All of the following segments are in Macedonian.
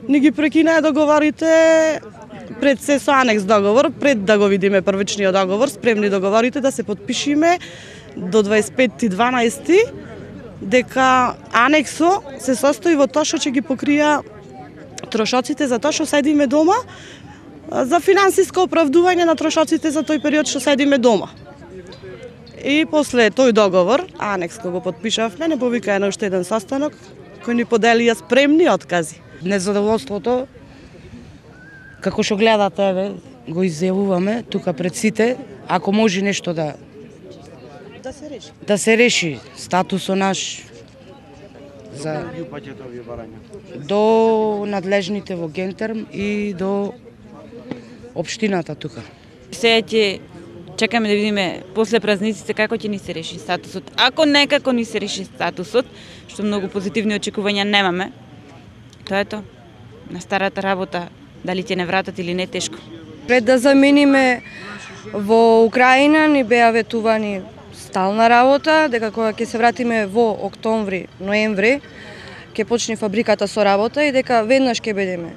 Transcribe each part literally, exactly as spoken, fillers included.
ни ги прекинаа договорите пред се со анекс договор, пред да го видиме првичниот договор, спремни договорите да се потпишиме до дваесет и петти дванаести дека анексо се состои во тоа што ќе ги покрија трошоците за тоа што седиме дома, за финансиско оправдување на трошоците за тој период што седиме дома. И после тој договор, анекс кој го потпишавме, не повика на уште еден состанок кој ни поделија спремни откази. Незадоволството, како што гледате, еве, го изјавуваме тука пред сите, ако може нешто да да се реши. Да се реши статусот наш за до надлежните во Гентерм и до општината тука. Сега ќе чекаме да видиме после празниците како ќе ни се реши статусот. Ако некако ни се реши статусот, што многу позитивни очекувања немаме, тоа е тоа. На старата работа, дали ќе не вратат или не, тешко. Пред да замениме во Украина ни беа ветувани стална работа, дека кога ќе се вратиме во октомври, ноември, ќе почне фабриката со работа и дека веднаш ќе бидеме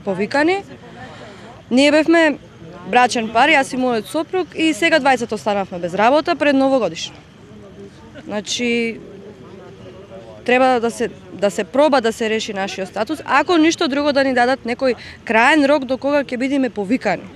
повикани. Ние бевме брачен пар, јас и мојот сопруг, и сега двајцата останавме без работа пред новогодишно. Значи, треба да се да се проба да се реши нашиот статус, ако ништо друго да ни дадат некој краен рок до кога ќе бидеме повикани.